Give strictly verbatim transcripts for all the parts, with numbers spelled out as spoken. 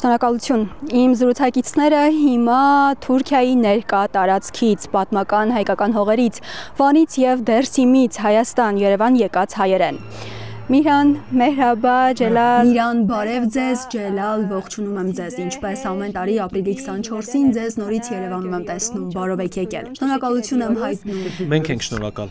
Շնորհակալություն։ Իմ զրուցակիցները հիմա Թուրքիայի ներկա տարածքից, պատմական հայկական հողերից, Վանից եւ Դերսիմից Հայաստան, Երևան եկած հայեր են։ Միran, Մեհրաբա, Ջելալ։ Միran, բարև ձեզ, Ջելալ, ողջունում եմ ձեզ, ինչպես ամեն տարի ապրիլի քսանչորսին ձեզ նորից Երևանում եմ տեսնում, բարով եք եկել։ Շնորհակալություն եմ հայտնում։ Մենք ենք շնորհակալ։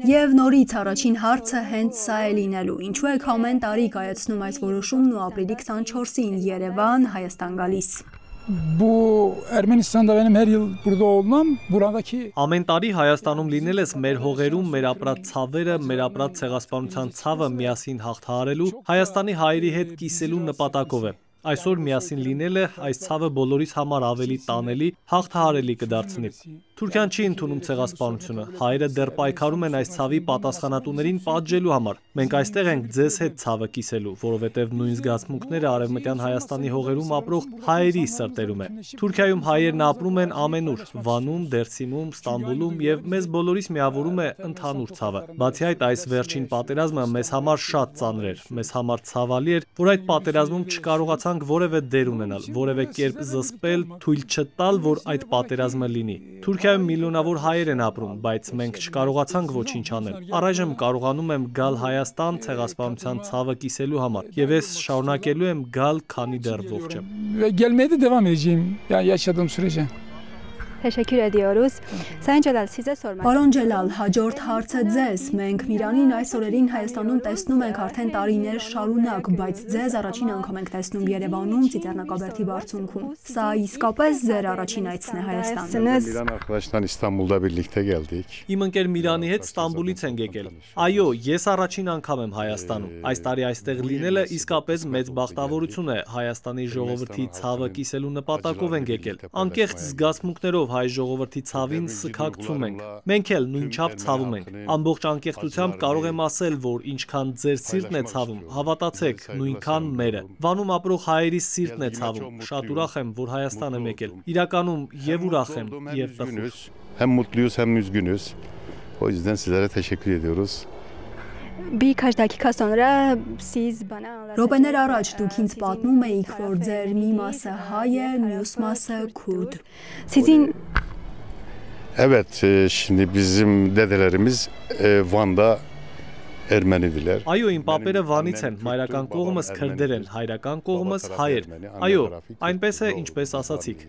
Եվ նորից առաջին հարցը հենց սա է լինելու։ Ինչու եք ամեն տարի կայացնում այս որոշումն ու ապրիլի քսանչորսին Երևան, Հայաստան գալիս։ Bu Ermenistan'da benim her yıl burada olmam buradaki Ամեն տարի Հայաստանում լինելս մեր հողերում մեր ապրած ցավերը, մեր ապրած ցեղասպանության ցավը միասին հաղթահարելու, Հայաստանի հայերի հետ կիսելու նպատակով է։ Այսօր միասին լինելը այս ցավը բոլորիս համար ավելի տանելի, հաղթահարելի կդարձնի։ Թուրքիան չի ընդունում ցեղասպանությունը, հայերը դեռ պայքարում են այս ցավի պատասխանատուներին պատժելու համար։ Մենք այստեղ ենք ձեզ հետ ցավը կիսելու, որովհետև նույն զգացմունքները արևմտյան Հայաստանի հողերում ապրող հայերի սրտերում է։ Թուրքիայում հայերն ապրում են ամենուր, Վանում, Դերսիմում, Ստամբուլում եւ մեզ բոլորիս միավորում է ընդհանուր ցավը։ Բացի այդ, այս վերջին պատերազմը մեզ համար շատ ծանր էր, մեզ համար ցավալի էր, որ այդ պատերազմում չկարողացանք որևէ դեր ունենալ, որևէ կերպ զսպել, թույլ չտալ, որ այդ պատերազմը լինի։ Թուրքիայում միլիոնավոր հայեր են ապրում, բայց մենք չկարողացանք ոչինչ անել։ Առայժմ կարողանում եմ գալ Հայաստան ցեղասպանության ցավը կիսելու համար, եւ ես շարունակելու եմ գալ, քանի դեռ ողջ եմ։ Gelmeye de devam edeceğim yani yaşadığım sürece. Teşekkür ediyoruz. Sayın Celal, sizə sormaq. Պարոն Ջելալ, հաջորդ հարցը ձեզ։ Մենք Միրանին այս օրերին Հայաստանում տեսնում ենք արդեն տարիներ şarunակ, բայց ձեզ առաջին անգամ ենք տեսնում Երևանում, Ծիծեռնակաբերդի բարձունքում։ Սա իսկապես ձեր առաջին այցն է Հայաստան։ Miran arkadaşlar İstanbul'da birlikte geldik. Իմ ընկեր Միրանի հետ Ստամբուլից ենք եկել։ Այո, ես առաջին անգամ եմ Հայաստանում։ Այս տարի այստեղ լինելը իսկապես մեծ բախտավորություն է։ Հայաստանի ժողովրդի ցավը կիսելու նպատակով ենք եկել։ Անկեղծ զգացմունքներով հայ ժողովրդի ցավին սքակցում ենք։ Մենք էլ նույնչափ ցավում ենք։ Ամբողջ անկեղծությամբ կարող եմ ասել, որ ինչքան ձեր սիրտն է ցավում, հավատացեք, նույնքան մերը։ Վանում ապրող հայերի սիրտն է ցավում։ Շատ ուրախ եմ, որ Հայաստան եմ եկել։ Իրականում եւ ուրախ եմ, եւ տխուր։ Hem mutluyuz hem üzgünüz. O yüzden sizlere teşekkür ediyoruz. Bir kaç dakika sonra siz bana Րոպեներ առաջ դուք ինձ պատմում էիք, որ ձեր մի մասը հայ է, մյուս մասը քուրդ։ Sizin Evet, e, şimdi bizim dedelerimiz e, Van'da Ermenidiler. Այո, իմ պապերը Վանից են, մայրական կողմս քրդեր են, հայրական կողմս հայեր։ Այո, այնպես է, ինչպես ասացիք։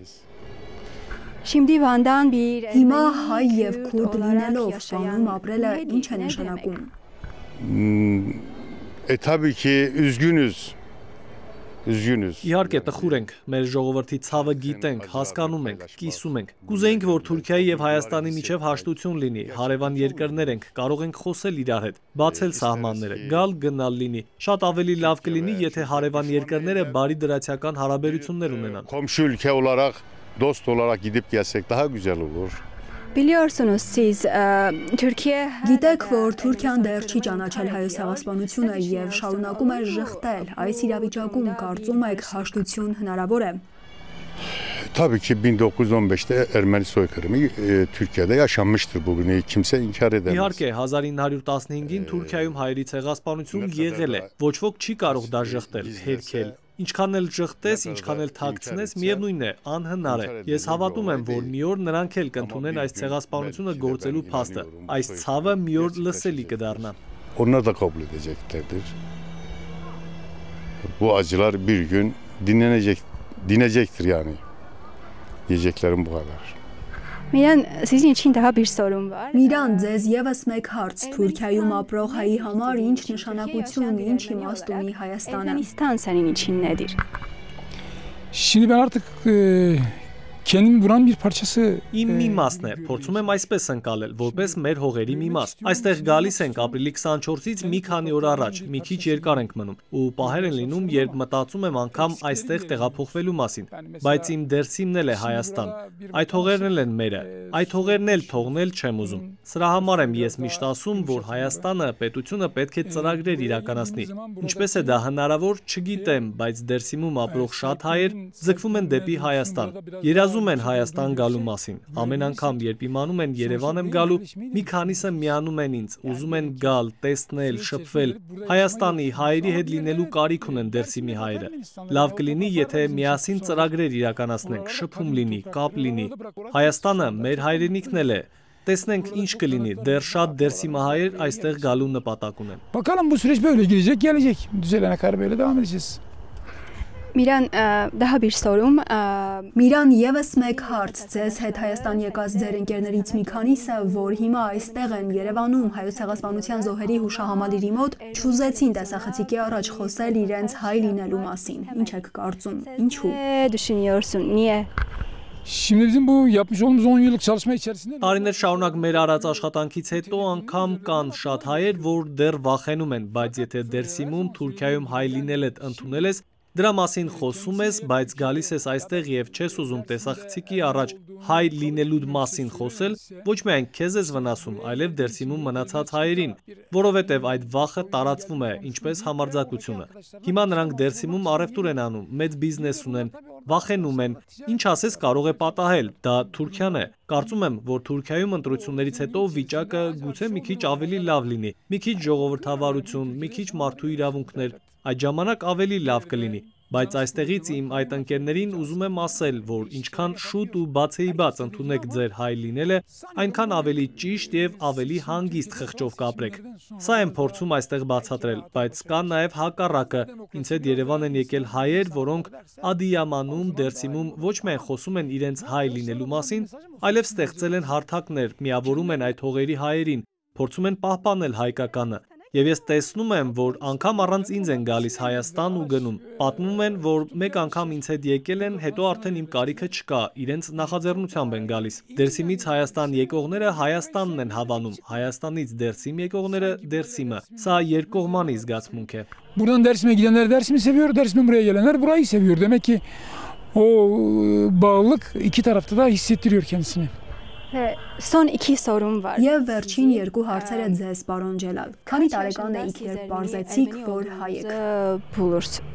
Şimdi Van'dan bir Հիմա հայ եւ քուրդ լինելով Վանում ապրելը ինչ է նշանակում։ E tabii ki üzgünüz. Üzgünüz. Իհարկե տխուր ենք, մեր ժողովրդի ցավը գիտենք, հասկանում ենք, կիսում ենք։ Կուզեինք, որ Թուրքիայի եւ Հայաստանի միջև հաշտություն լինի, հարևան երկրներ ենք, կարող ենք խոսել իրար հետ, բացել սահմանները, գալ գնալ լինի։ Շատ ավելի լավ կլինի, եթե հարևան երկրները բարի դրացիական հարաբերություններ ունենան։ Komşu ülke olarak, dost olarak gidip gelsek daha güzel olur. Biliyorsunuz siz Türkiye Գիտեք, որ Թուրքիան դեռ չի ճանաչել հայոց ցեղասպանությունը եւ շարունակում է ժխտել։ Այս իրավիճակում կարծում եք հաշտություն հնարավոր է։ Tabii ki bin dokuz yüz on beşte Ermeni soykırımı e, Türkiye'de yaşanmıştır bugün. Kimse inkar edemez. Իհարկե հազար ինը հարյուր տասնհինգին Թուրքիայում հայերի ցեղասպանություն եղել է։ Ոչ ոք չի կարող դա ժխտել, հերքել։ Ինչքան էլ ժխտես, ինչքան էլ թաքցնես, միևնույն է, անհնար է։ Ես հավատում եմ, որ մի օր նրանք էլ կընդունեն այս ցեղասպանությունը գործելու փաստը։ Այս ցավը մի օր լսելի կդառնա։ Onlar da kabul edeceklerdir. Bu acılar bir gün dinlenecek, dinecektir yani. Diyeceklerim bu kadar. Միran, sizin için daha bir sorum var. Միran, ձեզ եւս մեկ հարց Թուրքիայում ապրող հայի համար ինչ նշանակություն, ինչ իմաստ ունի Հայաստանը։ Ermenistan senin için nedir? Şimdi ben artık e, kendimi buranın bir parçası Իմ մի մասն է, փորձում եմ այսպես ընկալել, որպես մեր հողերի մի մաս։ Այստեղ գալիս ենք ապրիլի քսանչորսից մի քանի օր առաջ, մի քիչ երկար ենք մնում, ու պահեր են լինում, երբ մտածում եմ անգամ այստեղ տեղափոխվելու մասին, բայց իմ դերսիմն էլ է Հայաստան։ Այդ հողերն էլ են մերը, այդ հողերն էլ թողնել չեմ ուզում։ Սրա համար եմ ես միշտ ասում, որ Հայաստանը, պետությունը պետք է ծրագրեր իրականացնի։ Ինչպես է դա հնարավոր, չգիտեմ, բայց դերսիմում ապրող շատ հայեր ձգվում են դեպի Հայաստան։ խզում են Հայաստան գալու մասին։ Ամեն անգամ, երբ իմանում են Երևան եմ գալու, մի քանիսը միանում են ինձ, ուզում են գալ, տեսնել, շփվել։ Հայաստանի հայերի հետ լինելու կարիք ունեն Դերսիմի հայերը։ Լավ կլինի, եթե միասին ծրագրեր իրականացնենք, շփում լինի, կապ լինի։ Հայաստանը մեր հայրենիքն էլ է։ Տեսնենք ինչ կլինի, դեռ շատ Դերսիմահայեր այստեղ գալու նպատակ ունեն։ Bakalım bu süreç böyle gidecek, gelecek. Düzelene kadar böyle devam edeceğiz. Միրան, դա bir sorum. Միրան, եւս մեկ հարց ձեզ հետ Հայաստան եկած ձեր ընկերներից մի քանիսը, որ հիմա այստեղ են Երևանում հայոց ցեղասպանության զոհերի հուշահամալիրի մոտ, չուզեցին տեսախցիկի առաջ խոսել իրենց հայ լինելու մասին։ Ինչ եք կարծում։ Ինչու։ Düşünüyorsun, niye? Şimdi bizim bu yapmış olduğumuz on yıllık çalışma içerisinde Տարիներ շարունակ մեր արած աշխատանքից հետո անգամ կան շատ հայեր, որ դեռ վախենում են, բայց եթե Դերսիմում, Թուրքիայում հայ լինել եք ընդունել ես, դրա մասին խոսում ես, բայց գալիս ես այստեղ եւ չես ուզում տեսախցիկի առաջ հայ լինելու մասին խոսել, ոչ միայն քեզ ես վնասում, այլև Դերսիմում մնացած հայերին, որովհետեւ այդ վախը տարածվում է, ինչպես համարձակությունը։ Հիմա նրանք Դերսիմում առևտուր են անում, մեծ բիզնես ունեն, վախենում են, ինչ ասես կարող է պատահել, դա Թուրքիան է։ Կարծում եմ, որ Թուրքիայում ընտրություններից հետո վիճակը գուցե մի քիչ ավելի լավ լինի, մի քիչ ժողովրդավարություն, մի քիչ մարդու իրավունքներ, այդ ժամանակ ավելի լավ կլինի, բայց այստեղից իմ այդ ընկերներին ուզում եմ ասել, որ ինչքան շուտ ու բացեիբաց ընդունեք ձեր հայ լինելը, այնքան ավելի ճիշտ եւ ավելի հանգիստ խղճով կապրեք։ Սա եմ փորձում այստեղ բացատրել, բայց կա նաեւ հակառակը, ինձ հետ Երևան են եկել հայեր, որոնք Ադիյամանում, Դերսիմում ոչ միայն խոսում են իրենց հայ լինելու մասին, այլև ստեղծել են հարթակներ, միավորում են այդ հողերի հայերին, փորձում են պահպանել հայկականը։ Եվ ես տեսնում եմ, որ անգամ առանց ինձ են գալիս Հայաստան ու գնում։ Պատմում են, որ մեկ անգամ ինձ հետ եկել են, հետո արդեն իմ կարիքը չկա, իրենց նախաձեռնությամբ են գալիս։ Դերսիմից Հայաստան եկողները Հայաստանն են հավանում, Հայաստանից Դերսիմ եկողները Դերսիմը։ Սա երկկողմանի զգացմունք է։ Buradan Dersim'e gidenler Dersim'i seviyor, Dersim'den buraya gelenler burayı seviyor. Demek ki o bağlılık iki tarafta da hissettiriyor kendisini. Son iki sorum var. Եվ վերջին երկու հարցերը ձեզ, պարոն Ջելալ։ Քանի տարեկան եք, երբ բարձեցիք, որ հայ եք։ Bulursun.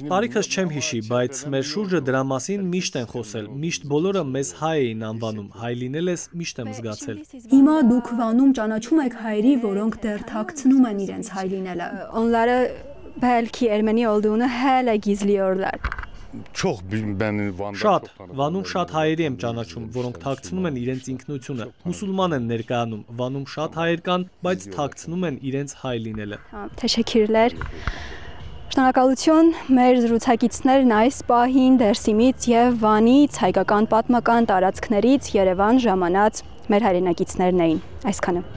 Տարիքս չեմ հիշի, բայց մեր շուրջը դրա մասին միշտ են խոսել, միշտ բոլորը մեզ հայ էին անվանում, հայ լինել ես միշտ եմ զգացել։ Հիմա դուք Վանում ճանաչում եք հայերի, որոնք դեռ թաքցնում են իրենց հայ լինելը։ Onlara belki Ermeni olduğunu hala gizliyorlar. Շատ, Վանում շատ հայերի եմ ճանաչում, որոնք թաքցնում են իրենց ինքնությունը, մուսուլման են ներկայանում, Վանում շատ հայեր կան, բայց թաքցնում են իրենց հայ լինելը։ Teşekkürler. Շնորհակալություն մեր զրուցակիցներն այս պահին Դերսիմից եւ Վանից հայկական պատմական տարածքներից Երևան ժամանած մեր հայրենակիցներն էին։ Այսքանը։